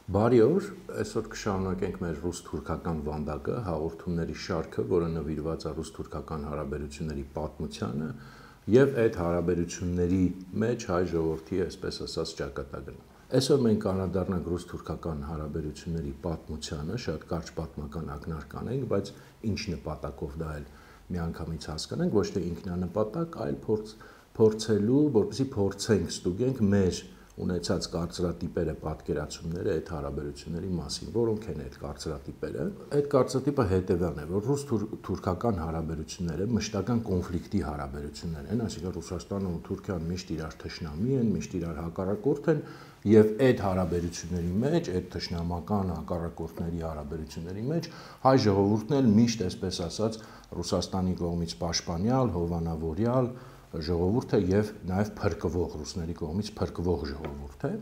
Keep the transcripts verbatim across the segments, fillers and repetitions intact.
Բարի օր, այսօր կշարունակենք մեր ռուս-թուրքական վանդակը, հաղորդումների շարքը, որը նվիրված է ռուս-թուրքական հարաբերությունների պատմությանը եւ այդ հարաբերությունների մեջ հայ ժողովրդի, այսպես ասած, ճակատագրին։ Այսօր մենք անդրադառնանք ռուս-թուրքական հարաբերությունների պատմությանը, շատ կարճ պատմական ակնարկ կանենք, բայց ինչ նպատակով դա էլ միանգամից հասկանանք, ոչ թե ինքնանպատակ, այլ փորձ փորձելու, որպեսզի փորձենք ստուգենք մեր ունեցած կարծրատիպերը, պատկերացումները այդ հարաբերությունների մասին, որոնք են այդ կարծրատիպերը։ Այդ կարծրատիպը հետևյալն է, որ ռուս-թուրքական հարաբերությունները մշտական կոնֆլիկտի հարաբերություններ են, այսինքն Ռուսաստանը ու Թուրքիան միշտ իրար թշնամի են, միշտ իրար հակառակորդ են, եւ այդ հարաբերությունների մեջ, այդ թշնամական հակառակորդների հարաբերությունների մեջ հայ ժողովուրդն էլ միշտ, այսպես ասած, Ռուսաստանի կողմից պաշտպանյալ, հովանավորյալ ժողովուրդը եւ նաեւ փրկվող ռուսների կողմից փրկվող ժողովուրդ է։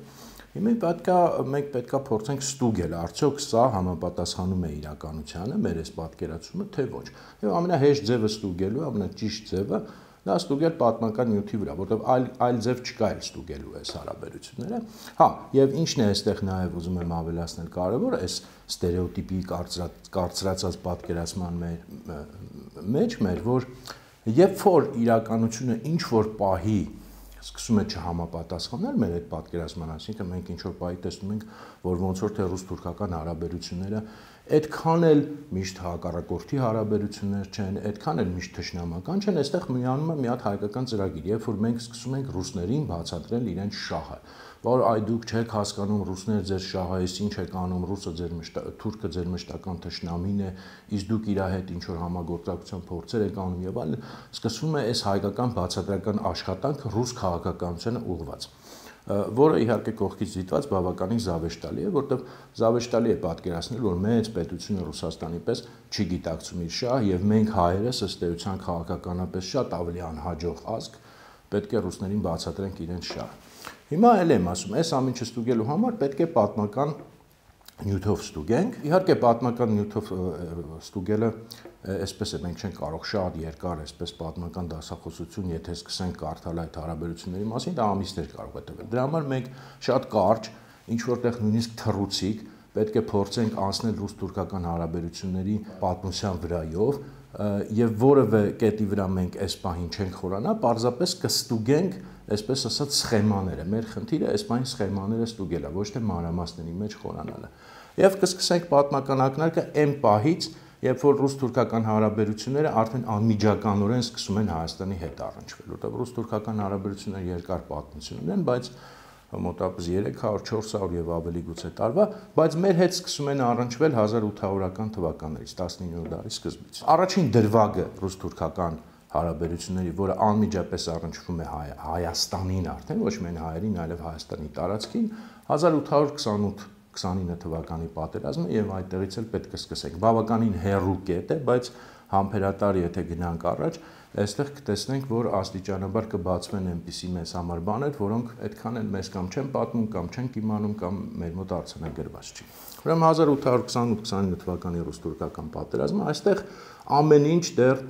Հիմա պետքա մենք պետքա փորձենք ստուգել, արդյոք սա համապատասխանում է իրականությանը, մեր այս պատկերացումը, թե ոչ։ Եվ ամենահեշտ ձևը ստուգելու, ամենաճիշտ ձևը դա ստուգել պատմական նյութի վրա, որովհետեւ այլ այլ ձև չկա այլ ստուգելու այս հարաբերությունները։ Հա, եւ ինչն է այստեղ նաեւ ուզում եմ ավելացնել կարեւոր, այս ստերեոտիպի կարծրացած պատկերացման մեջ մեր, որ Երբ որ իրականությունը ինչ որ պահի սկսում է չհամապատասխանել մեր այդ պատկերացման, այսինքն մենք ինչ որ պահի տեսնում ենք, որ ոնց որ թե ռուս-թուրքական հարաբերությունները այդքան էլ միշտ հակառակորդի հարաբերություններ չեն, այդքան էլ միշտ թշնամական չեն, այստեղ միանում է մի հատ հայկական ծրագիր, երբ որ մենք սկսում ենք ռուսներին բացատրել իրենց շահը, որ այ դուք չեք հասկանում ռուսներ ձեր շահը, այս ինչ եք անում, ռուսը ձեր թուրքը ձեր մշտական թշնամին է, իսկ դուք իր հետ ինչ որ համագործակցության փորձեր եք անում եւ այլն, սկսվում է այս հայկական բացատրական աշխատանքը ռուս քաղաքականությանը ուղղված, որը իհարկե կողքից դիտված բավականին զավեշտալի է, որտեղ զավեշտալի է պատկերացնել, որ մեծ պետությունը Ռուսաստանի պես չի գիտակցում իր շահ եւ մենք հայերս ըստ էության քաղաքականապես շատ ավելի անհաջող ազգ պետք է ռուսներին բացատրենք իրենց շահը։ Հիմա էլ եմ ասում, այս ամենը չստուգելու համար պետք է պատմական նյութով ստուգենք։ Իհարկե պատմական նյութով ստուգելը այսպես է, մենք չենք կարող շատ երկար այսպես պատմական դասախոսություն, եթե սկսենք կարդալ այդ հարաբերությունների մասին, դա ամիսներ կարող է տևել։ Դրա համար մենք շատ կարճ, ինչ որտեղ նույնիսկ թռուցիկ պետք է փորձենք անցնել ռուս-թուրքական հարաբերությունների պատմության վրայով եւ որևէ կետի վրա մենք այս պահին չենք խորանա, պարզապես կստուգենք, այսպես ասած, սխեմաները։ Մեր խնդիրը այս պահին սխեմաները ստուգելը, ոչ թե մանրամասների մեջ խորանալը։ Եվ կսկսենք պատմական ակնարկը այն պահից, երբ որ ռուս-թուրքական հարաբերությունները արդեն անմիջականորեն սկսում են Հայաստանի հետ առնչվել, որտեղ ռուս-թուրքական հարաբերությունները երկար պատմություն ունեն, բայց մոտավորապես երեք հարյուր չորս հարյուր եւ ավելի գուցե տարվա, բայց մեր հետ սկսում են առնչվել հազար ութ հարյուրական թվականներից, տասնիններորդ դարի սկզբից։ Առաջին դրվագը ռուս-թուրքական հարաբերությունների, որը անմիջապես առնչվում է Հայ, Հայաստանին արդեն, ոչ միայն հայերին, այլև Հայաստանի տարածքին, հազար ութ հարյուր քսանութ քսանինը թվականի պատերազմը եւ այդտեղից էլ պետք է սկսենք։ Բավականին հեռու կետ է, բայց համբերատար եթե գնանք առաջ, այստեղ կտեսնենք, որ աստիճանաբար կբացվեն այնպիսի մեծ համար բաներ, որոնք այդքան էլ մեզ կամ չեն պատմում, կամ չենք իմանում, կամ մեր մոտ արձանագրված չի։ Ուրեմն հազար ութ հարյուր քսանութ քսանինը թվականի ռուս-թուրքական պատերազմը, այստեղ ամեն ինչ դեռ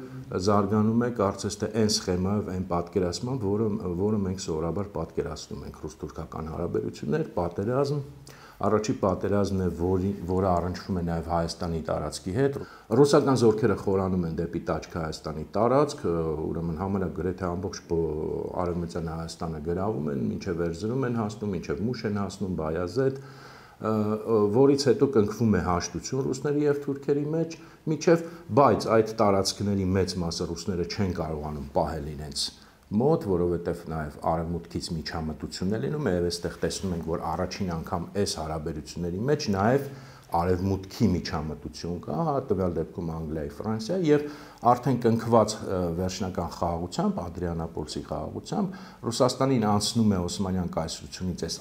զարգանում է, կարծես թե այն սխեմայով, այն պատկերացմամբ, որը որը մենք սովորաբար պատկերացնում ենք ռուս-թուրքական հարաբերություններ, պատերազմ, Առաջի պատերազմն է, որի, որը առնչվում է նաև Հայաստանի տարածքի հետ։ Ռուսական զորքերը խորանում են դեպի Տաճք Հայաստանի տարածք, ուրեմն համարյա գրեթե ամբողջ արևմտյան Հայաստանը գրավում են, մինչև Էրզրում են հասնում, մինչև Մուշ են հասնում, Բայազեդ, որից հետո կնքվում է հաշտություն ռուսների եւ թուրքերի մեջ, մինչև բայց այդ տարածքների մեծ մասը ռուսները չեն կարողանում պահել իրենց մոտ, որովհետև նաև արևմուտքից միջամտություն է լինում, եւ այստեղ տեսնում ենք, որ առաջին անգամ այս հարաբերությունների մեջ նաև արևմուտքի միջամտություն կա, տվյալ դեպքում Անգլիայի, Ֆրանսիայի եւ արդեն կնքված վերջնական խաղաղությամբ, Ադրիանապոլսի խաղաղությամբ Ռուսաստանին անցնում է Օսմանյան կայսրությունից այս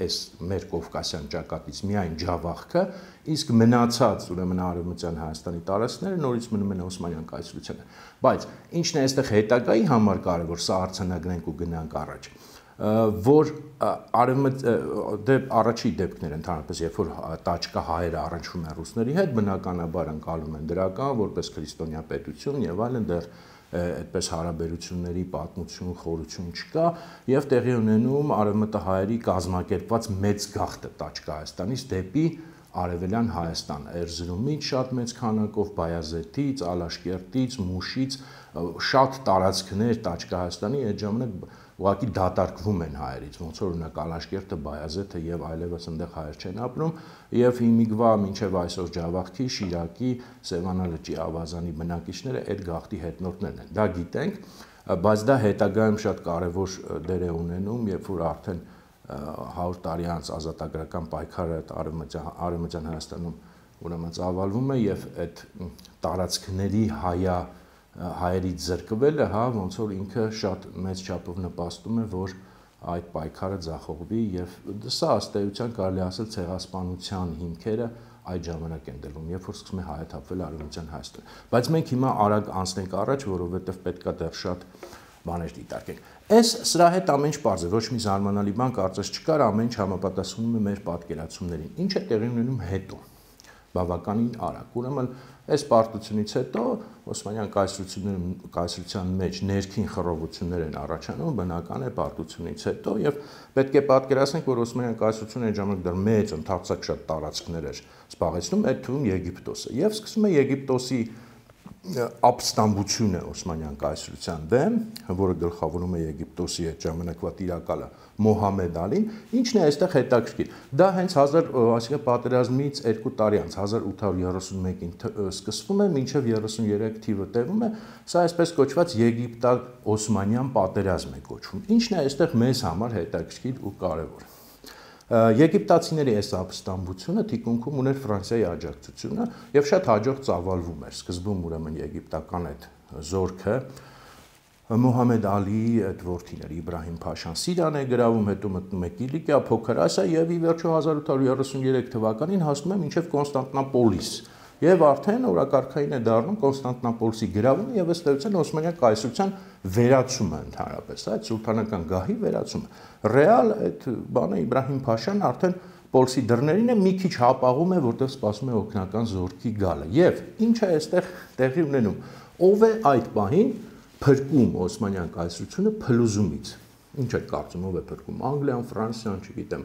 այս մեր Կովկասյան ճակատից միայն Ջավախքը, իսկ մնացած ուրեմն արևմտյան Հայաստանի տարածքները նորից մնում են Օսմանյան կայսրությանը։ Բայց ինչն է այստեղ հետագայի համար կարևոր, սա արձանագրենք ու գնանք առաջ, որ արևմտ դեպ առաջի դեպքներ ընդհանրապես երբ որ Տաճկա հայերը առնչվում են ռուսների հետ, բնականաբար անցալում են դրական որպես քրիստոնյա պետություն եւ այլն, դեռ այդպես հարաբերությունների պատմություն, խորություն չկա եւ տեղի ունենում արևմտահայերի կազմակերպված մեծ գաղթը Տաճ Հայաստանից դեպի Արևելյան Հայաստան, Էրզրումից շատ մեծ քանակով, Բայազետից, Ալաշկերտից, Մուշից շատ տարածքներ Տաճ Հայաստանի այդ ժամանակ ուղղակի դատարկվում են հայերից, ոնց որ օրինակ Ալաշկերտը, Բայազետը եւ այլևս այնտեղ հայեր չեն ապրում եւ հիմիկվա մինչեւ այսօր Ջավախքի, Շիրակի, Սևանա լճի ավազանի բնակիչները այդ գաղթի հետնորդներն են։ Դա գիտենք, բայց դա հետագայում շատ կարեւոր դեր է ունենում, երբ որ արդեն հարյուր տարի անց ազատագրական պայքարը Արևմտյան Հայաստանում ուրեմն ծավալվում է եւ այդ տարածքների հայա հայերից զրկվելը, հա, ոնց որ ինքը շատ մեծ չափով նպաստում է, որ այդ պայքարը ձախողվի եւ սա ըստ էության կարելի ասել ցեղասպանության հիմքերը այդ ժամանակ են դրվում, երբ որ սկսում է հայաթափվել Արևմտյան Հայաստան։ Բայց մենք հիմա արագ անցնենք առաջ, որովհետեւ պետքա դեռ շատ բաներ դիտարկենք։ Այս սրա հետ ամեն ինչ պարզ է, ոչ մի զարմանալի բան կարծես չկար, ամեն ինչ համապատասխանում է մեր պատկերացումներին։ Ինչ է տեղի ունենում հետո։ Բավականին արագ։ Ուրեմն այս պարտությունից հետո Օսմանյան կայսրությունների կայսրության մեջ ներքին խռովություններ են առաջանում, բնական է պարտությունից հետո եւ պետք է պատկերացնենք, որ Օսմանյան կայսրությունը այդ ժամանակ դեռ մեծ ընդարձակ շատ տարածքներ էր զբաղեցնում, այդ թվում Եգիպտոսը։ Եվ սկսում է Եգիպտոսի ապստամբությունը Օսմանյան կայսրության դեմ, որը գլխավորում է Եգիպտոսի այդ ժամանակվա տիրակալը Մոհամեդ Ալին, ինչն է այստեղ հետաքրքիր։ Դա հենց հազար, այսինքն պատերազմից երկու տարի անց հազար ութ հարյուր երեսուն մեկին սկսվում է, մինչև երեսուներեք թիվը տևում է, սա այսպես կոչված Եգիպտա-Օսմանյան պատերազմ է կոչվում։ Ինչն է այստեղ մեզ համար հետաքրքիր ու կարևոր։ Եգիպտացիների այս ապստամբությունը թիկունքում ուներ Ֆրանսիայի աջակցությունը եւ շատ հաջող ծավալվում էր։ Սկզբում ուրեմն եգիպտական այդ զորքը Մոհամեդ Ալիի այդ որդին էր Իբրահիմ Փաշան Սիրիան է գրավում, հետո մտնում է Կիլիկիա, Փոքր Ասիա եւ ի վերջո հազար ութ հարյուր երեսուներեք թվականին հասնում է մինչեւ Կոնստանտինոպոլիս։ Եվ արդեն օրակարգային է դառնում Կոնստանտինոպոլսի գրավումը եւ ըստ էության Օսմանյան կայսրության վերացումը ընդհանրապես, այդ սուլթանական գահի վերացումը։ Ռեալ այդ բանը Իբրահիմ Փաշան արդեն Պոլսի դռներին է, մի քիչ հապաղում է, որտեղ սպասում է օգնական զորքի գալը։ Եվ ինչ է այստեղ տեղի ունենում։ Ով է այդ պահին փրկում Օսմանյան կայսրությունը փլուզումից։ Ինչ է կարծում, ով է փրկում։ Անգլիան, Ֆրանսիան, չգիտեմ,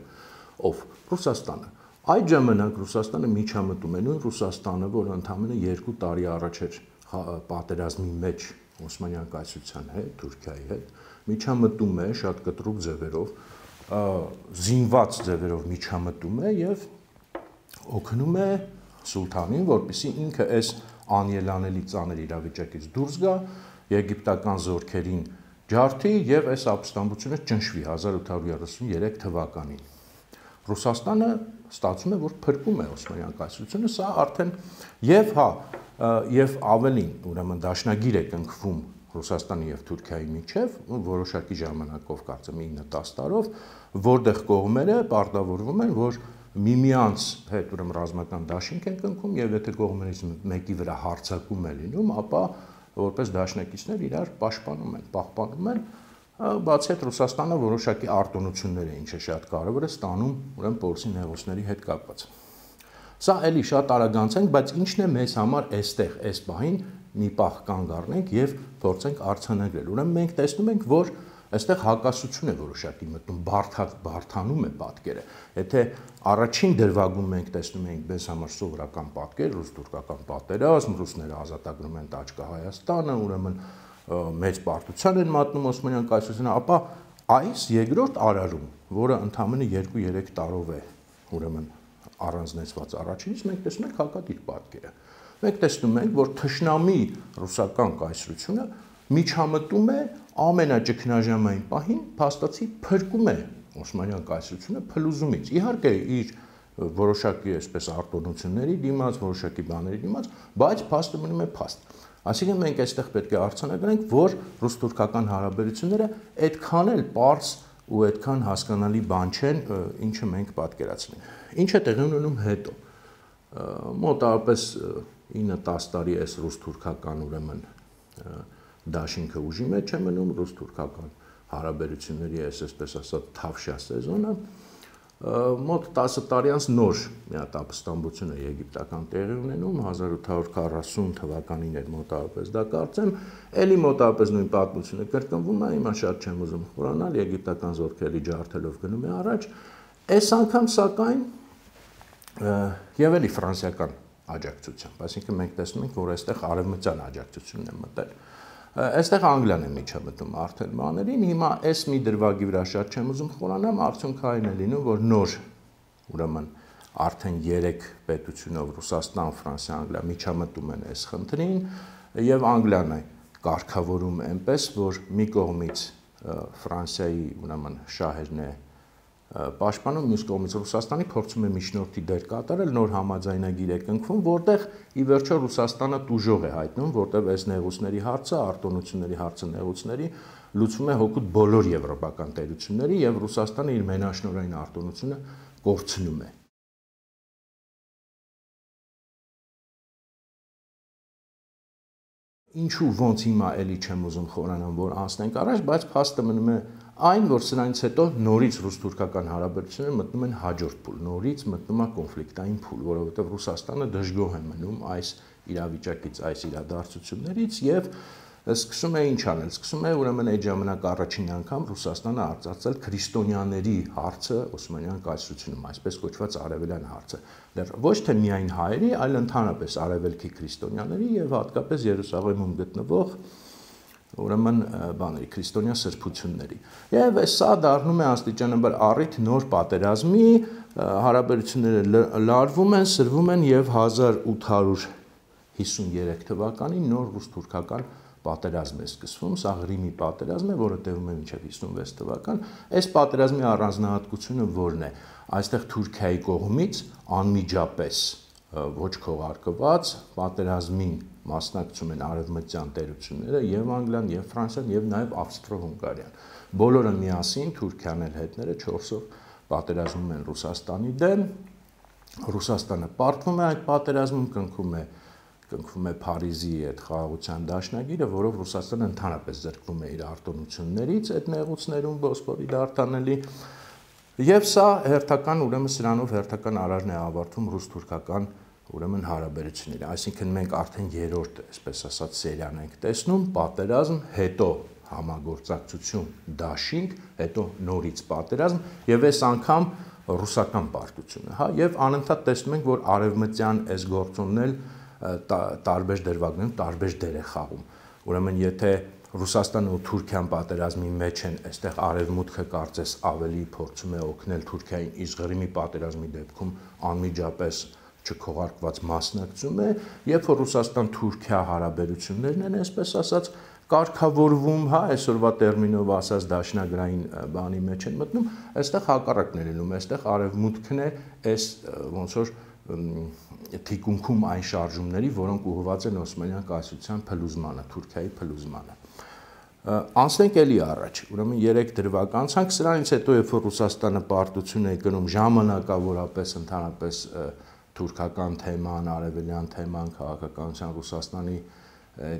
ով։ Ռուսաստանը։ Այդ ժամանակ Ռուսաստանը միջամտում է, նույն Ռուսաստանը, որը ընդամենը երկու տարի առաջ էր պատերազմի մեջ Օսմանյան կայսրության հետ, Թուրքիայի հետ, միջամտում է շատ կտրուկ ձևերով, զինված ձևերով միջամտում է եւ օգնում է սուլթանին, որպեսզի ինքը այս անելանելի ծանր իրավիճակից դուրս գա, եգիպտական զորքերին ջարդի եւ այս ապստամբությունը ճնշվի հազար ութ հարյուր երեսուներեք թվականին։ Ռուսաստանը ստացվում է, որ փրկում է Օսմանյան կայսրությունը, սա արդեն եւ հա եւ ավելին, ուրեմն դաշնագիր է կնքվում Ռուսաստանի եւ Թուրքիայի միջև, որոշակի ժամանակով, կարծեմ ինը տասը տարով, որտեղ կողմերը պարտավորվում են, որ միմյանց հետ ուրեմն ռազմական դաշինք են կնքում եւ եթե կողմերից մեկի վրա հարձակում է լինում, ապա որպես դաշնակիցներ իրար պաշտպանում են, պահպանում են, բացի այդ Ռուսաստանը որոշակի արտոնություններ է, ինչը շատ կարևոր է, ստանում ուրեմն Պոլսի նեղուցների հետ կապված։ Սա էլի շատ արագ անցենք, բայց ինչն է մեզ համար այստեղ, այս պահին մի պահ կանգ առնենք եւ փորձենք արձանագրել։ Ուրեմն մենք տեսնում ենք, որ այստեղ հակասություն է որոշակի մտնում, բարթակ բարթանում է պատկերը։ Եթե առաջին դրվագում մենք տեսնում ենք մեզ համար սովորական պատկեր, ռուս-թուրքական պատերազմ, ռուսները ազատագրում են Տաճ Հայաստանը, ուրեմն մեծ պարտության են մատնում Օսմանյան կայսրությունը, ապա այս երկրորդ արարում, որը ընդամենը երկու երեք տարով է, ուրեմն առանձնացված առաջինից, մենք տեսնում ենք հակադիր պատկերը։ Մենք տեսնում ենք, որ թշնամի ռուսական կայսրությունը միջամտում է ամենաճգնաժամային պահին, փաստացի փրկում է Օսմանյան կայսրությունը փլուզումից։ Իհարկե իր որոշակի այսպես արտոնությունների դիմաց, որոշակի բաների դիմաց, բայց փաստը մնում է փաստ։ Այսինքն մենք այստեղ պետք է արձանագրենք, որ ռուս-թուրքական հարաբերությունները այդքան էլ պարզ ու այդքան հասկանալի բան չեն, ինչը մենք պատկերացնենք։ Ինչ է տեղի ունենում հետո։ Մոտավորապես ինը տասը տարի այս ռուս-թուրքական ուրեմն դաշինքը ուժի մեջ է մնում, ռուս-թուրքական հարաբերությունների այս այսպես ասած թավշյա սեզոնը, մոտ տասը տարի անց նոր մի հատ ապստամբություն է եգիպտական տեղի ունենում, հազար ութ հարյուր քառասուն թվականին էր մոտավորապես դա կարծեմ, էլի մոտավորապես նույն պատմությունը կրկնվում է, հիմա շատ չեմ ուզում խորանալ, եգիպտական զորքերի ջարդելով գնում է առաջ, այս անգամ սակայն եւ էլի ֆրանսիական աջակցությամբ, այսինքն մենք տեսնում ենք, որ այստեղ արևմտյան աջակցությունն է մտել։ Այստեղ Անգլիան է միջամտում արդեն բաներին, հիմա այս մի դրվագի վրա շատ չեմ ուզում խորանամ, արդյունքը այն է լինում, որ նոր, ուրեմն արդեն երեք պետությունով Ռուսաստան, Ֆրանսիա, Անգլիա միջամտում են այս խնդրին եւ Անգլիան է կարգավորում այնպես, որ մի կողմից Ֆրանսիայի ուրեմն շահերն է պաշտպանում, մյուս կողմից Ռուսաստանի փորձում է միջնորդի դեր կատարել, նոր համաձայնագիր է կնքվում, որտեղ ի վերջո Ռուսաստանը տուժող է հայտնում, որտեղ այս նեղուցների հարցը, արտոնությունների հարցը նեղուցների լուծվում է հօգուտ բոլոր եվրոպական տերությունների եւ Ռուսաստանը իր մենաշնորհային արտոնությունը կորցնում է։ Ինչու ոնց հիմա էլի չեմ ուզում խորանամ, որ անցնենք առաջ, բայց փաստը մնում է այն, որ սրանից հետո նորից ռուս-թուրքական հարաբերությունները մտնում են հաջորդ փուլ, նորից մտնում է կոնֆլիկտային փուլ, որովհետև Ռուսաստանը դժգոհ է մնում այս իրավիճակից, այս իրադարձություններից եւ սկսում է ինչ անել, սկսում է ուրեմն այդ ժամանակ առաջին անգամ Ռուսաստանը արծարծել քրիստոնյաների հարցը Օսմանյան կայսրությունում, այսպես կոչված արևելյան հարցը, դեռ ոչ թե միայն հայերի, այլ ընդհանրապես արևելքի քրիստոնյաների եւ հատկապես Երուսաղեմում գտնվող ուրեմն բաների քրիստոնյա սրբությունների։ Եվ սա դառնում է աստիճանաբար առիթ նոր պատերազմի, հարաբերությունները լարվում են, սրվում են եւ հազար ութ հարյուր հիսուններեք թվականին նոր ռուս-թուրքական պատերազմ է սկսվում, սա Ղրիմի պատերազմ է, որը տևում է մինչև հիսունվեց թվական։ Այս պատերազմի առանձնահատկությունը որն է։ Այստեղ Թուրքիայի կողմից անմիջապես ոչ քողարկված պատերազմին մասնակցում են արևմտյան տերությունները եւ Անգլիան, եւ Ֆրանսիան, եւ նաեւ Ավստրո-Հունգարիան։ Բոլորը միասին Թուրքիան էլ հետները չորսով պատերազմում են Ռուսաստանի դեմ։ Ռուսաստանը պարտվում է այդ պատերազմում, կնքում է կնքում է Փարիզի այդ խաղաղության դաշնագիրը, որով Ռուսաստանը ընդհանրապես զրկվում է իր արտոնություններից այդ նեղուցներում Բոսպորի դարտանելի եւ սա հերթական ուրեմն սրանով հերթական արարն է ավարտվում ռուս-թուրքական ուրեմն հարաբերությունները, այսինքն մենք արդեն երրորդ, այսպես ասած, սերիան ենք տեսնում, պատերազմ, հետո համագործակցություն, դաշինք, հետո նորից պատերազմ եւ այս անգամ ռուսական պարտությունը, հա, եւ անընդհատ տեսնում ենք, որ արևմտյան այս գործոնն էլ տարբեր դրվագներում տարբեր դեր է խաղում։ Ուրեմն եթե Ռուսաստանը ու Թուրքիան պատերազմի մեջ են, այստեղ արևմուտքը կարծես ավելի փորձում է օգնել Թուրքիային, իսկ Ղրիմի պատերազմի դեպքում անմիջապես չքողարկված մասնակցում է, երբ որ Ռուսաստան-Թուրքիա հարաբերություններն են, այսպես ասած, կարգավորվում, հա, այսօրվա տերմինով ասած դաշնագրային բանի մեջ են մտնում, այստեղ հակառակն է լինում, այստեղ արևմուտքն է այս ոնց որ թիկունքում այն շարժումների, որոնք ուղղված են Օսմանյան կայսրության փլուզմանը, Թուրքիայի փլուզմանը։ Անցնենք էլի առաջ, ուրեմն երեք դրվագ անցանք, սրանից հետո երբ որ Ռուսաստանը պարտություն է գնում ժամանակավորապես ընդհանրապես թուրքական թեման, արևելյան թեման, քաղաքականության Ռուսաստանի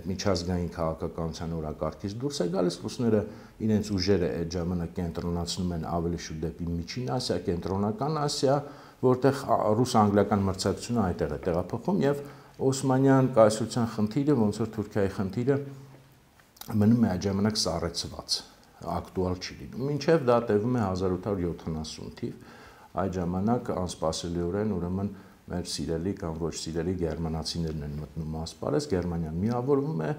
միջազգային քաղաքականության օրակարգից դուրս է գալիս, ռուսները իրենց ուժերը այդ ժամանակ կենտրոնացնում են ավելի շուտ դեպի Միջին Ասիա, Կենտրոնական Ասիա, որտեղ ռուս-անգլիական մրցակցությունը այդտեղ է տեղափոխվում եւ Օսմանյան կայսրության խնդիրը, ոնց որ Թուրքիայի խնդիրը մնում է այդ ժամանակ սառեցված, ակտուալ չի լինում։ Մինչև դա տևում է հազար ութ հարյուր յոթանասուն թիվ, այդ ժամանակ անսպասելիորեն ուրեմն մեր սիրելի կամ ոչ սիրելի գերմանացիներն են մտնում ասպարեզ, Գերմանիան միավորվում է,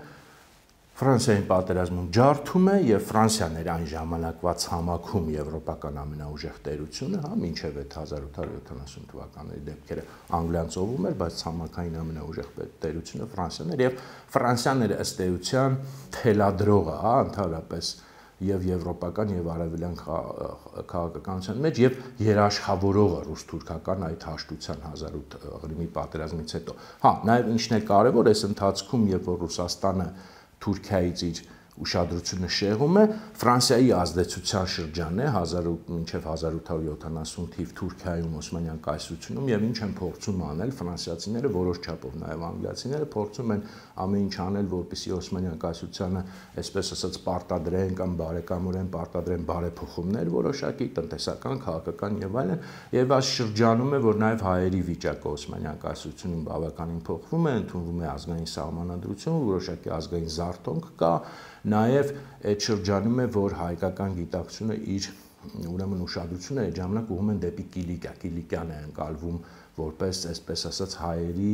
Ֆրանսիային պատերազմում ջարդում է եւ Ֆրանսիան էր այն ժամանակվա ցամաքում եվրոպական ամենաուժեղ տերությունը, հա, մինչև այդ հազար ութ հարյուր յոթանասուն թվականների դեպքերը Անգլիան ծովում էր, բայց ցամաքային ամենաուժեղ տերությունը Ֆրանսիան էր եւ Ֆրանսիան էր ըստ էության թելադրողը, հա, ընդհանրապես եւ եվրոպական եւ արևելյան քաղաքականության մեջ եւ երաշխավորողը ռուս-թուրքական այդ հաշտության հազար ութ Ղրիմի պատերազմից հետո։ Հա, նաեւ ինչն է կարեւոր, այս ընթացքում երբ որ Ռուսաստանը Թուրքիայից իր ուշադրությունը շեղում է, Ֆրանսիայի ազդեցության շրջանն է մինչև հազար ութ հարյուր յոթանասուն թիվ Թուրքիայում Օսմանյան կայսրությունում եւ ինչ են փորձում անել ֆրանսիացիները որոշ չափով նաեւ անգլիացիները փորձում են ամեն ինչ անել, որպեսզի Օսմանյան կայսրությանը, այսպես ասած, պարտադրեն կամ բարեկամորեն պարտադրեն բարեփոխումներ որոշակի տնտեսական, քաղաքական եւ այլն, եւ այս շրջանում է, որ նաեւ հայերի վիճակը Օսմանյան կայսրությունում բավականին փոխվում է, ընդունվում է ազգային սահմանադրություն, որոշակի ազգային զարթոնք կա, նաեւ այդ շրջանում է, որ հայկական գիտակցությունը իր ուրեմն ուշադրությունը այդ ժամանակ ուղղում են դեպի Կիլիկիա, Կիլիկիան է ընկալվում որպես, այսպես ասած, հայերի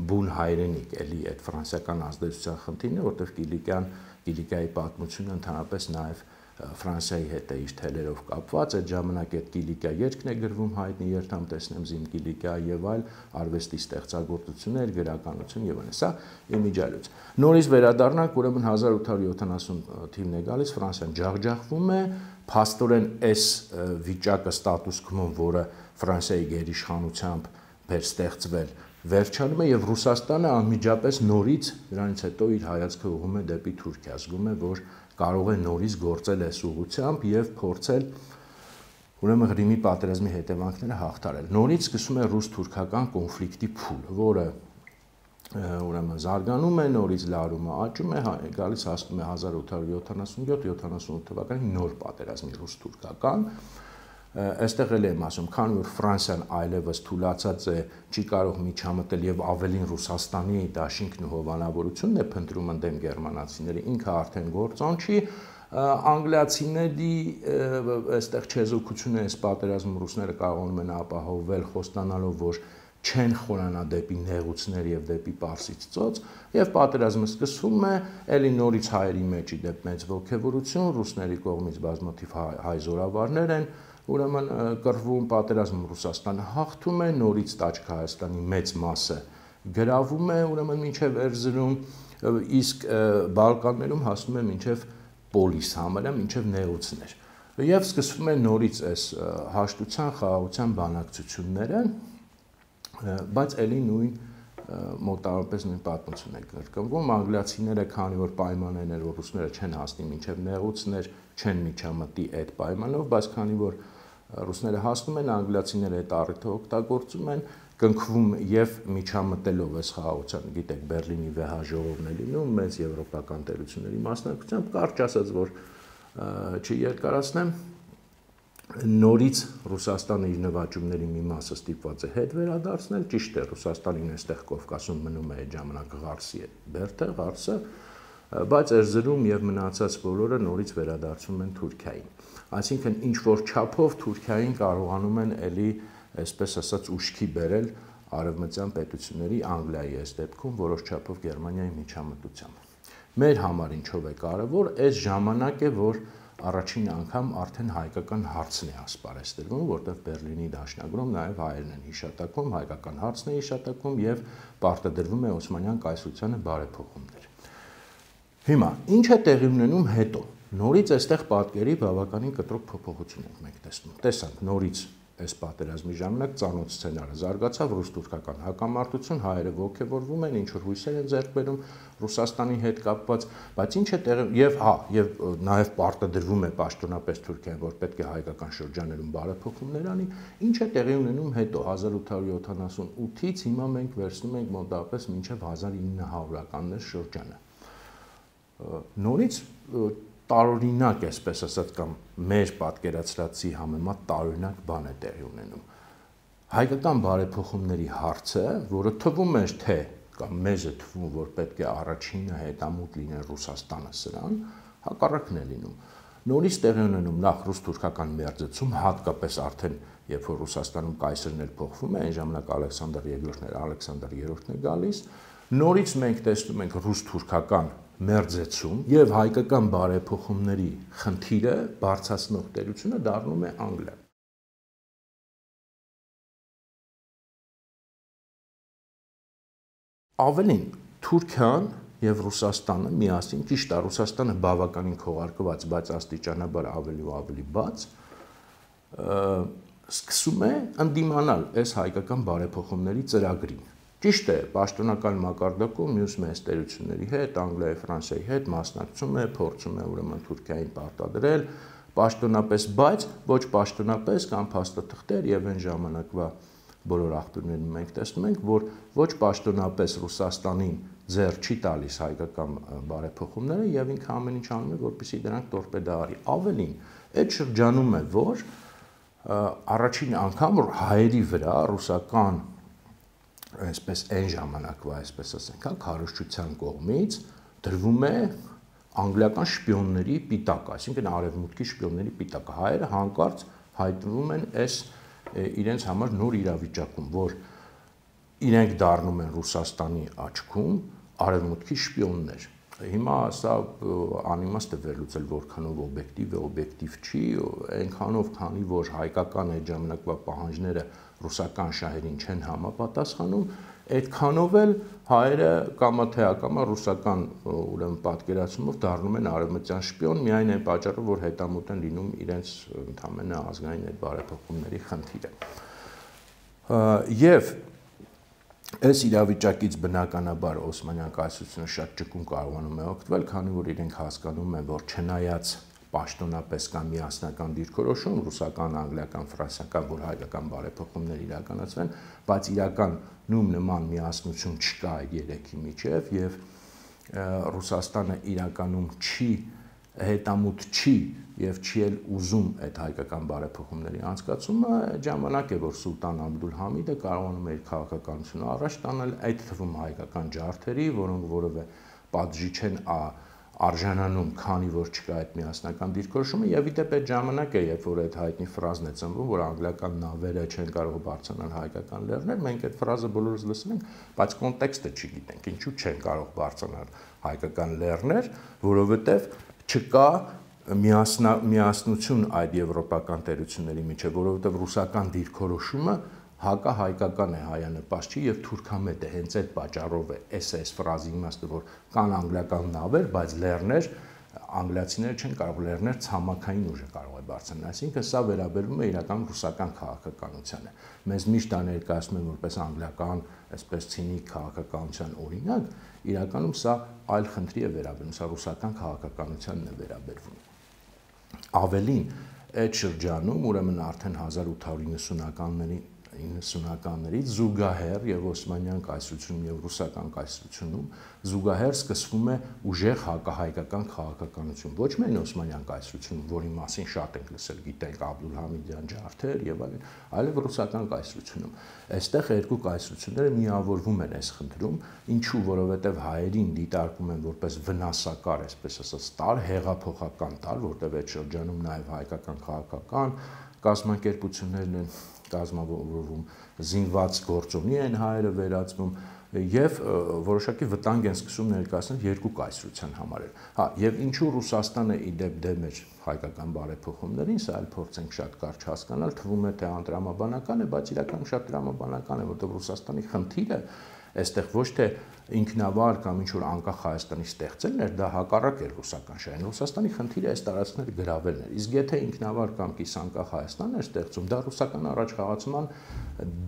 բուն հայրենիք, էլի այդ ֆրանսիական ազդեցության խնդիրն է, որտեղ Կիլիկիան, Կիլիկիայի պատմությունը ընդհանրապես նաեւ Ֆրանսիայի հետ է իր թելերով կապված, այդ ժամանակ այդ Կիլիկիա երգն է գրվում հայտնի երթամ տեսնեմ զիմ Կիլիկիա եւ այլ արվեստի ստեղծագործություններ, գրականություն եւ այլն, սա իմիջիալուց։ Նորից վերադառնանք, ուրեմն հազար ութ հարյուր յոթանասուն թիվն է գալիս, Ֆրանսիան ջախջախվում է, փաստորեն այս վիճակը ստատուս քվոն, որը Ֆրանսիայի գերիշխանությամբ բեր ստեղծվել, վերջանում է եւ Ռուսաստանը անմիջապես նորից դրանից հետո իր հայացքը ուղղում է դեպի Թուրքիա, զգում է, որ կարող է նորից գործել այս ուղղությամբ եւ փորձել ուրեմն Ղրիմի պատերազմի հետևանքները հաղթարել։ Նորից սկսում է ռուս-թուրքական կոնֆլիկտի փուլ, որը ուրեմն զարգանում է, նորից լարումը աճում է, գալիս հասնում է հազար ութ հարյուր յոթանասուն յոթ յոթանասունութ թվականի նոր պատերազմի ռուս-թուրքական։ Այստեղ էլ եմ ասում, քանի որ Ֆրանսիան այլևս թուլացած է, չի կարող միջամտել եւ ավելին Ռուսաստանի դաշինքն ու հովանավորությունն է փնտրում ընդդեմ գերմանացիների, ինքը արդեն գործոն չի, անգլիացիների այստեղ չեզոքությունը այս պատերազմում ռուսները կարողանում են ապահովել խոստանալով, որ չեն խորանա դեպի նեղուցներ եւ դեպի Պարսից ծոց, եւ պատերազմը սկսվում է, ելի նորից հայերի մեջ ի դեպ մեծ ողջևորություն, ռուսների կողմից բազմաթիվ հայ զորավարներ են ուրեմն կռվում, պատերազմում Ռուսաստանը հաղթում է, նորից Տաճք Հայաստանի մեծ մասը գրավում է, ուրեմն մինչև Էրզրում, իսկ Բալկաններում հասնում է մինչև Պոլիս համարը, մինչև նեղուցներ։ Եվ սկսվում է նորից այս հաշտության, խաղաղության բանակցությունները, բայց ելի նույն մոտավորապես նույն պատմություն է կրկնվում, անգլիացիները, քանի որ պայմաններն էր, որ ռուսները չեն հասնի մինչև նեղուցներ, չեն միջամտի այդ պայմանով, բայց քանի որ ռուսները հասնում են, անգլիացիները այդ առիթը օգտագործում են, կնքվում եւ միջամտելով այս խաղաղության, գիտեք, Բերլինի վեհաժողովն է լինում, մեծ եվրոպական տերությունների մասնակցությամբ, կարճ ասած, որ չերկարացնեմ, նորից Ռուսաստանը իր նվաճումների մի մասը ստիպված է հետ վերադարձնել, ճիշտ է, Ռուսաստանին այստեղ Կովկասում մնում է այդ ժամանակ Ղարսի է բերդը, Ղարսը, բայց Էրզրում եւ մնացած բոլորը նորից վերադարձում են Թուրքիային։ Այսինքն ինչ որ չափով Թուրքիային կարողանում են ելի, այսպես ասած, ուշքի բերել արևմտյան պետությունների, Անգլիայի այս դեպքում որոշ չափով Գերմանիայի միջամտությամբ։ Մեր համար ինչով է կարևոր, այս ժամանակ է, որ առաջին անգամ արդեն հայկական հարցն է ասպարեզդրվում, որտեղ Բերլինի դաշնագրում նաև հայերն են հիշատակում, հայկական հարցն է հիշատակում եւ պարտադրվում է Օսմանյան կայսրությանը բարեփոխումներ։ Հիմա ինչ է տեղի ունենում հետո։ Նորից այստեղ պատկերի բավականին կտրուկ փոփոխություն ենք մենք տեսնում։ Տեսանք նորից այս պատերազմի ժամանակ ծանոթ սցենարը զարգացավ, ռուս-թուրքական հակամարտություն, հայերը ողջևորվում են, ինչ որ հույսեր են ձեռք բերում Ռուսաստանի հետ կապված, բայց ինչ է տեղի եւ հա, եւ նաեւ պարտադրվում է պաշտոնապես Թուրքիան, որ պետք է հայկական շրջաներում բարեփոխումներ անի, ինչ է տեղի ունենում հետո հազար ութ հարյուր յոթանասունութից հիմա մենք վերցնում ենք մոտավորապես մինչեւ հազար ինը հարյուրականներ շրջանը։ Նորից տարօրինակ, այսպես ասած, կամ մեր պատկերացրածի համեմատ տարօրինակ բան է տեղի ունենում։ Հայկական բարեփոխումների հարցը, որը թվում էր թե կամ մեզ է թվում, որ պետք է առաջինը հետամուտ լինեն Ռուսաստանը սրան, հակառակն է լինում։ Նորից տեղի ունենում նախ ռուս-թուրքական մերձեցում, հատկապես արդեն երբ որ Ռուսաստանում կայսրն էլ փոխվում է, այն ժամանակ Ալեքսանդր երկրորդն էր, Ալեքսանդր երրորդն է գալիս, նորից մենք տեսնում ենք ռուս-թուրքական մերձեցում եւ հայկական բարեփոխումների խնդիրը բարձրացնող տերությունը դառնում է Անգլիան։ Ավելին, Թուրքիան եւ Ռուսաստանը միասին, ճիշտ է, Ռուսաստանը բավականին քողարկված, բայց աստիճանաբար ավելի ու ավելի բաց, սկսում է ընդդիմանալ այս հայկական բարեփոխումների ծրագրին։ Ճիշտ է, պաշտոնական մակարդակում մյուս մեծ տերությունների հետ, Անգլիայի, Ֆրանսիայի հետ մասնակցում է, փորձում է ուրեմն Թուրքիային պարտադրել պաշտոնապես, բայց ոչ պաշտոնապես կամ փաստաթղթեր եւ այն ժամանակվա բոլոր աղբյուրներում մենք տեսնում ենք, որ ոչ պաշտոնապես Ռուսաստանին ձեռ չի տալիս հայկական բարեփոխումները եւ ինքը ամեն ինչ անում է, որպեսզի դրանք տորպեդա արի։ Ավելին, այդ շրջանում է, որ առաջին անգամ հայերի վրա ռուսական այսպես այն ժամանակվա, այսպես ասենք, քարոզչության կողմից դրվում է անգլիական շպիոնների պիտակ, այսինքն արևմուտքի շպիոնների պիտակը։ Հայերը հանկարծ հայտնվում են այս իրենց համար նոր իրավիճակում, որ իրենք դառնում են Ռուսաստանի աչքում արևմուտքի շպիոններ։ Հիմա սա անիմաստ է վերլուծել, որքանով օբյեկտիվ է, օբյեկտիվ չի, այնքանով, քանի որ հայկական այդ ժամանակվա պահանջները ռուսական շահերին չեն համապատասխանում, այդքանով էլ հայերը կամա թե ակամա ռուսական ուրեմն պատկերացումով դառնում են արևմտյան շպիոն, միայն այն պատճառով, որ հետամուտ են լինում իրենց ընդհանրապես ազգային այդ բարեփոխումների խնդիրը։ Եվ այս իրավիճակից բնականաբար Օսմանյան կայսրությունը շատ ճկուն կարողանում է օգտվել, քանի որ իրենք հասկանում են, որ չնայած պաշտոնապես կամ միասնական դիրքորոշում, ռուսական, անգլիական, ֆրանսիական, որ հայկական բարեփոխումներ իրականացվեն, բայց իրական նույն նման միասնություն չկա այդ երեքի միջև եւ Ռուսաստանը իրականում չի հետամուտ չի եւ չի էլ ուզում այդ հայկական բարեփոխումների անցկացումը, ժամանակ է, որ Սուլտան Աբդուլհամիդը կարողանում է իր քաղաքականությունը առաջ տանել, այդ թվում հայկական ջարդերի, որոնք որևէ պատժի չեն արժանանում, քանի որ չկա այդ միասնական դիրքորոշումը, եւ իդեպ այդ ժամանակ է, երբ որ այդ հայտնի ֆրազն է ծնվում, որ անգլիական նավերը չեն կարող բարձրանալ հայկական լեռներ, մենք այդ ֆրազը բոլորս լսել ենք, բայց կոնտեքստը չգիտենք, ինչու չեն կարող բարձրանալ հայկական լեռներ, որովհետեւ չկա միասնա, միասնություն այդ եվրոպական տերությունների միջև, որովհետև ռուսական դիրքորոշումը հակահայկական է, հայանպաստ չի եւ թուրքամետ է, հենց այդ պատճառով է էս էս ֆրազի իմաստը, որ կան անգլիական նավեր, բայց լեռներ անգլիացիները չեն կարող, լեռներ ցամաքային ուժը կարող է բարձրանալ, այսինքն սա վերաբերվում է իրական ռուսական քաղաքականությանը։ Մեզ միշտ ներկայացնում են որպես անգլիական, այսպես ցինիկ քաղաքականության օրինակ, իրականում սա այլ խնդրի է վերաբերում, սա ռուսական քաղաքականությանն է վերաբերվում։ Ավելին, այդ շրջանում, ուրեմն արդեն հազար ութ հարյուր իննսունականների իննսունականներից զուգահեռ եւ Օսմանյան կայսրությունում եւ ռուսական կայսրությունում զուգահեռ սկսվում է ուժեղ հակահայկական քաղաքականություն, ոչ միայն Օսմանյան կայսրությունում, որի մասին շատ ենք լսել, գիտենք Աբդուլհամիդյան ջարդեր եւ այլն, այլև ռուսական կայսրությունում։ Այստեղ երկու կայսրությունները միավորվում են այս խնդրում, ինչու, որովհետեւ հայերին դիտարկում են որպես վնասակար, այսպես ասած, տար, հեղափոխական տար, որտեղ այդ շրջանում նաեւ հայկական քաղաքական կազմակերպություններն են կազմավորվում, զինված գործոնի են հայերը վերածվում եւ որոշակի վտանգ են սկսում ներկայացնել երկու կայսրության համար։ Հա, եւ ինչու Ռուսաստանը իդեպ դեմ էր հայկական բարեփոխումներին, սա էլ փորձենք շատ կարճ հասկանալ, թվում է թե անտրամաբանական է, բայց իրականում շատ տրամաբանական է, որտեղ Ռուսաստանի խնդիրը այստեղ ոչ թե ինքնավար կամ ինչ որ անկախ Հայաստանի ստեղծելն էր, դա հակառակ էր ռուսական շահերին։ Ռուսաստանի խնդիրը այս տարածքները գրավելն էր։ Իսկ եթե ինքնավար կամ կիսանկախ Հայաստանն էր ստեղծում, դա ռուսական առաջխաղացման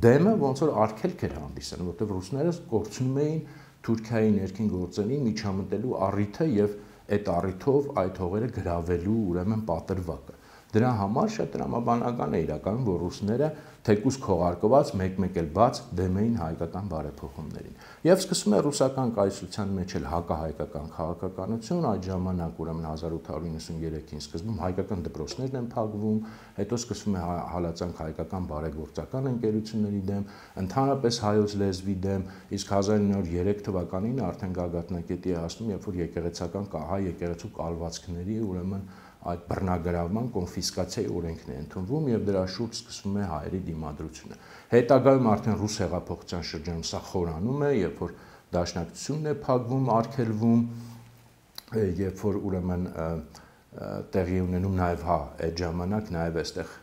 դեմը ոնց որ արգելք էր հանդիսանում, որտեղ ռուսները կորցնում էին Թուրքիայի ներքին գործերին միջամտելու առիթը եւ այդ առիթով այդ հողերը գրավելու ուրեմն պատրվակը։ Դրա համար շատ տրամաբանական է իրականում, որ ռուսները թեկուզ քողարկված մեկ-մեկ էլ բաց դեմ էին հայկական բարեփոխումներին։ Եվ սկսում է ռուսական կայսրության մեջ էլ հակահայկական քաղաքականություն, այդ ժամանակ ուրեմն հազար ութ հարյուր իննսուններեքին սկզբում հայկական դպրոցներն են փակվում, հետո սկսվում է հալածանք հայկական բարեգործական ընկերությունների դեմ, ընդհանրապես հայոց լեզվի դեմ, իսկ հազար ինը հարյուր երեք թվականին արդեն գագաթնակետի է հասնում, երբ որ եկեղեցական հայ եկեղեցու կալվածքների ուրեմն այդ բռնագրավման կոնֆիսկացիայի օրենքն է ընդունվում եւ դրա շուրջ սկսվում է հայերի դիմադրությունը։ Հետագայում արդեն ռուս հեղափոխության շրջանում սա խորանում է, երբ որ դաշնակցությունն է փակվում, արգելվում, երբ որ ուրեմն տեղի ունենում նաեւ հա այդ ժամանակ նաեւ այստեղ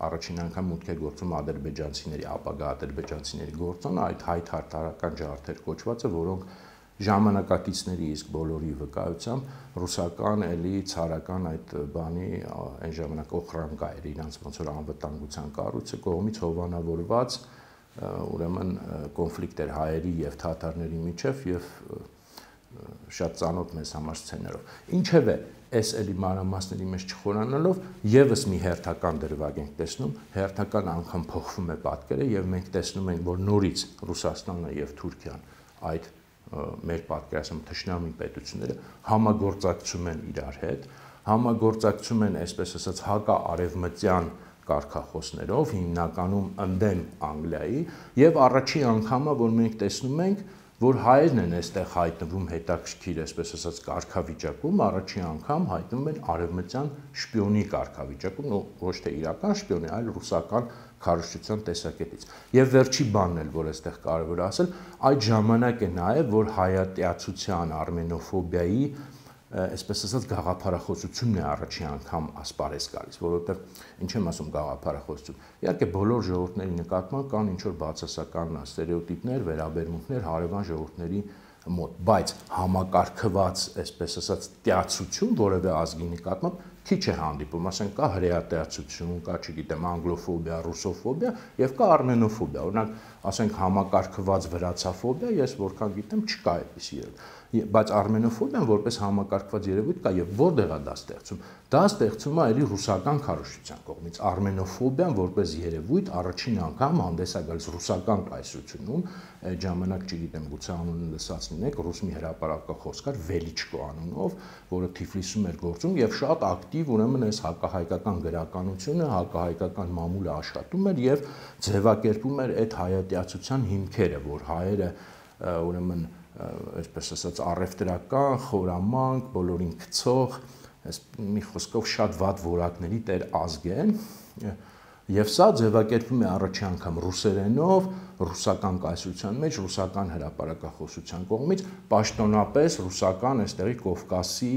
առաջին անգամ մուտք է գործում ադրբեջանցիների, ապագա ադրբեջանցիների գործոն, այդ հայ-թարթարական ջարդեր կոչվածը, որոնք ժամանակակիցների իսկ բոլորի վկայությամբ ռուսական էլի ցարական այդ բանի այն ժամանակ օխրանկա էր իրանց ոնց որ անվտանգության կառույցը կողմից հովանավորված ուրեմն կոնֆլիկտ էր հայերի եւ թաթարների միջև եւ շատ ծանոթ մեզ համար սցենարով։ Ինչևէ, այս էլի մանրամասների մեջ չխորանալով եւս մի հերթական դրվագ ենք տեսնում, հերթական անգամ փոխվում է պատկերը եւ մենք տեսնում ենք, որ նորից Ռուսաստանը եւ Թուրքիան այդ մեր պատկերացնում թշնամի պետությունները համագործակցում են իրար հետ, համագործակցում են, այսպես ասած, հակաարևմտյան կարգախոսներով, հիմնականում ընդդեմ Անգլիայի, եւ առաջին անգամը, որ մենք տեսնում ենք, որ հայերն են այստեղ հայտնվում հետաքրքիր, այսպես ասած, կարգավիճակում, առաջին անգամ հայտնվում են արևմտյան շպիոնի կարգավիճակում, ոչ թե իրական շպիոնի, այլ ռուսական քարոզչության տեսակետից։ Եվ վերջի բանն էլ, որ այստեղ կարևոր է ասել, այդ ժամանակ է նաև, որ հայատյացության, արմենոֆոբիայի, այսպես ասած, գաղափարախոսությունն է առաջին անգամ ասպարեզ գալիս, որովհետև ինչ եմ ասում գաղափարախոսություն։ Իհարկե բոլոր ժողովուրդների նկատմամբ կան ինչ-որ բացասական ստերեոտիպներ, վերաբերմունքներ հարևան ժողովուրդների մոտ, բայց համակարգված, այսպես ասած, տյացություն որևէ ազգի նկատմամբ քիչ է հանդիպում, ասենք կա հրեատյացություն, կա, չգիտեմ, անգլոֆոբիա, ռուսոֆոբիա եւ կա արմենոֆոբիա, օրինակ, ասենք համակարգված վրացաֆոբիա, ես որքան գիտեմ, չկա այդպիսի երևույթ, բայց արմենոֆոբիան որպես համակարգված երևույթ կա եւ որտեղ է դա ստեղծում։ Դա ստեղծում է այլի ռուսական քարոզչության կողմից։ Արմենոֆոբիան որպես երևույթ առաջին անգամ հանդես է գալիս ռուսական կայսրությունում, այդ ժամանակ, չգիտեմ, գուցե անունը լսած լինեք, ռուս մի հրապարակախոս կար Վելիչկո անունով, որը Թիֆլիսում էր գործում եւ շատ ակտիվ, ուրեմն այս հակահայկական գրականությունը, հակահայկական մամուլը աշխատում էր եւ ձևակերպում էր այդ հայատյացության հիմքերը, որ հայերը ուրեմն այսպես ասած առևտրական, խորամանկ, բոլորին գցող, մի խոսքով շատ վատ որակների տեր ազգ են, եւ սա ձևակերպվում է առաջին անգամ ռուսերենով, ռուսական կայսրության մեջ, ռուսական հրապարակախոսության կողմից, պաշտոնապես ռուսական այստեղի Կովկասի,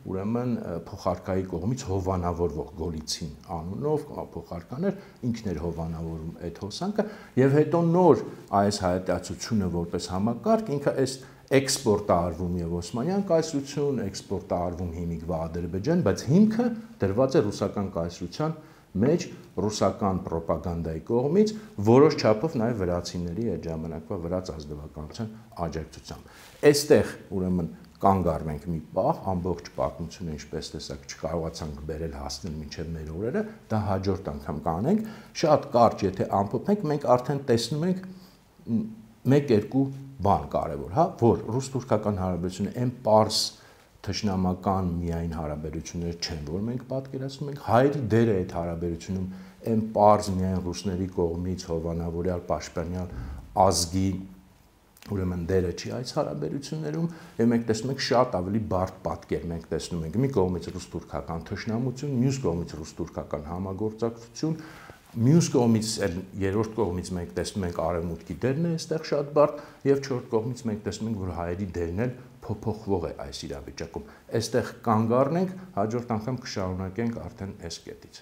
ուրեմն փոխարկայի կողմից հովանավորվող Գոլիցին անունով փոխարկաներ, ինքն էր հովանավորում այդ հոսանքը, եւ հետո նոր այս հայատյացությունը որպես համակարգ, ինքը այս էքսպորտ է արվում եւ Օսմանյան կայսրություն, էքսպորտ է արվում հիմիկվա Ադրբեջան, բայց հիմքը դրված է ռուսական կայսրության մեջ ռուսական ռոպագանդայի կողմից, որոշ չափով նաև վրացիների այդ ժամանակվա վրաց ազնվականության աջակցությամբ։ Այստեղ ուրեմն կանգ առնենք մի պահ, ամբողջ պատմությունը, ինչպես տեսակ, չկարողացանք բերել հասնել մինչև մեր օրերը, դա հաջորդ անգամ կանենք, շատ կարճ, եթե ամփոփենք, մենք արդեն տեսնում ենք մեկ-երկու բան կարևոր, հա, որ ռուս-թուրքական հարաբերությունը այն պարզ թշնամական միայն հարաբերություններ չեն, որ մենք պատկերացնում ենք, հայերի դերը այդ հարաբերությունում այն պարզ միայն ռուսների կողմից հովանավորյալ պաշտպանյալ ազգի ուրեմն դերը չի այս հարաբերություններում, եւ մենք տեսնում ենք շատ ավելի բարդ պատկեր, մենք տեսնում ենք մի կողմից ռուս-թուրքական թշնամություն, մյուս կողմից ռուս-թուրքական համագործակցություն, մյուս կողմից երրորդ կողմից մենք տեսնում ենք արևմուտքի դերն է այստեղ շատ բարդ եւ չորրորդ կողմից մենք տեսնում ենք որ հայերի դերն էլ փոփոխվող է այս իրավիճակում։ Այստեղ կանգ առնենք, հաջորդ անգամ կշարունակենք արդեն այս կետից։